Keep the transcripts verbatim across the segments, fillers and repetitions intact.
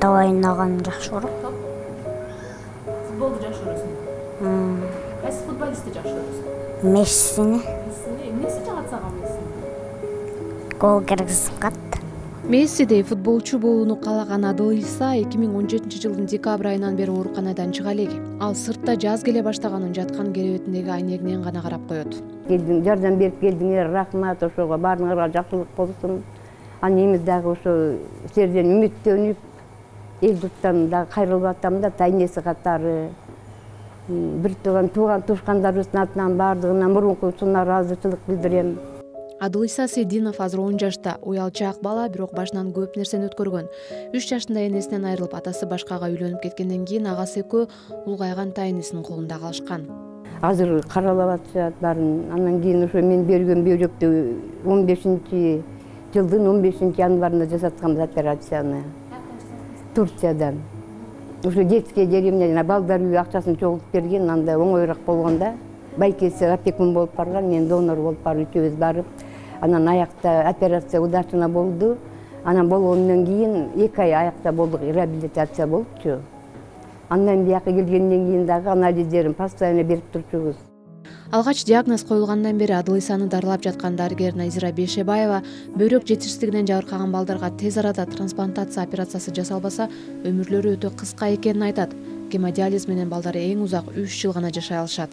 топ ойногон жакшы көрөм. Топ? Футболду жакшы көрөсүң? Кайсы футболистти жакшы көрөсүң? Мессини. Мессини? Эмнеси жагат сага Мессини? Гол киргизип кат. Мессидей футболчу болууну каалаган Адылиса эки миң он жетинчи жылдын декабрь айынан бери ооруканадан чыга элек. Ал сыртта жаз келе баштаганын жаткан керебетиндеги айнегинен гана карап коет. Келдиң, жардам берип келдиңер, рахмат, ошого баарыңарга жакшылык болсун. Анан эми дагы ошо силерден үмүттөнүп, эл журттан дагы кайрылып атам да, тайнеси катары. Бир тууган тууган тушкандарыбыздын атынан баардыгына мурункусуна ыраазычылык билдирем. Адылиса Сейдинов азыр он жашта, уялчаак бала, бирок башынан көп нерсени өткөргөн. үч жашында энесинен айрылып, атасы башкага үйлөнүп кеткенден кийин агасы экөө улгайган тайнесинин колунда калышкан. Азыр каралап атышат баарын. Андан кийин ошо мен берген бөйрөктү он бешинчи жылдын он бешинчи январында жасатканбыз операцияны. Турциядан. Ошо детский деревня жана балдар үйү акчасын чогултуп берген, анда оңоюраак болгондо байкеси опекун болуп барган, мен донор болуп барып үчөөбүз барып, анан аякта операция удачно болду. Анан болгондон кийин эки ай аякта болдук, реабилитация болупчу. Андан бияка келгенден кийин дагы анализдерин постоянно берип турчубуз. Алгач диагноз коюлгандан бери Адылисаны дарылап жаткан дарыгер Назира Бейшебаева бөйрөк жетишсиздигинен жабыркаган балдарга тез арада трансплантация операциясы жасалбаса, өмүрлөрү өтө кыска экенин айтат. Гемодиализ менен балдар эң узак үч жыл гана жашай алышат.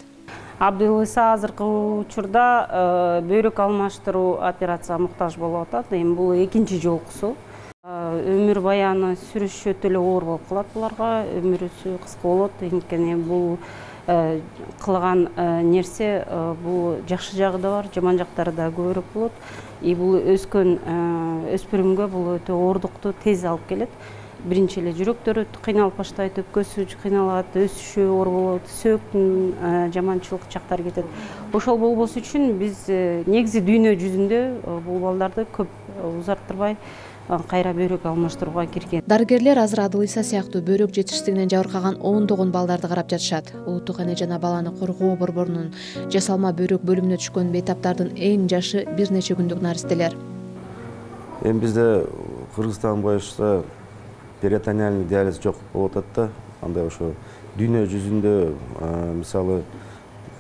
Абдылиса азыркы учурда бөйрөк алмаштыруу операцияга муктаж болуп атат. Эми бул экинчи жолкусу. Өмүр баяны сүрүш өтө эле оор болуп калат буларга, өмүрүсү кыска болот. Анткени бул кылган нерсе бул жакшы жагы да бар, жаман жактары да көбүрөөк болот. И бул өскөн өспүрүмгө бул өтө оордукту тез алып келет. Биринчи эле жүрөктөрү кыйналып баштайт, өпкөсү кыйналат, өсүшү оор болот, сөөктүн жаманчылык жактары кетет. Ошол болбосу үчүн биз негизи дүйнө жүзүндө бул балдарды көп узарттырбай кайра бөйрөк алмаштырууга кирген. Дарыгерлер азыр Адылиса сыяктуу бөйрөк жетишсиздигинен жабыркаган ондогон балдарды карап жатышат. Улуттук эне жана баланы коргоо борборунун жасалма бөйрөк бөлүмүнө түшкөн бейтаптардын эң жашы бир нече күндүк наристелер. Эми бизде Кыргызстан боюнча перитонеальный диализ жок болуп атат да. Андай ошо дүйнө жүзүндө мисалы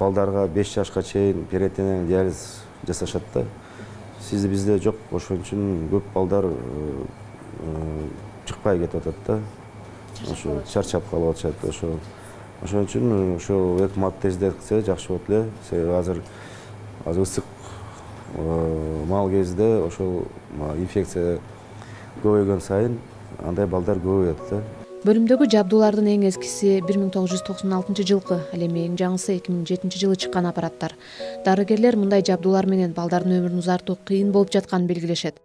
балдарга беш жашка чейин перитонеальный диализ жасашат да. Сизде бизде жок, ошон үчүн көп балдар чыкпай кетип атат да. Ошо чарчап калып атышат. Ошо ошон үчүн ошо өкмөт тездетсе жакшы болот эле. Себеби азыр азыр ысык мал кезде ошол инфекция көбөйгөн сайын андай балдар көбөйөт да. Бөлүмдөгү жабдуулардын эң эскиси бир миң тогуз жүз токсон алтынчы жылкы, ал эми эң жаңысы эки миң жетинчи жылы чыккан аппараттар. Дарыгерлер мындай жабдуулар менен балдардын өмүрүн узартуу кыйын болуп жатканын белгилешет.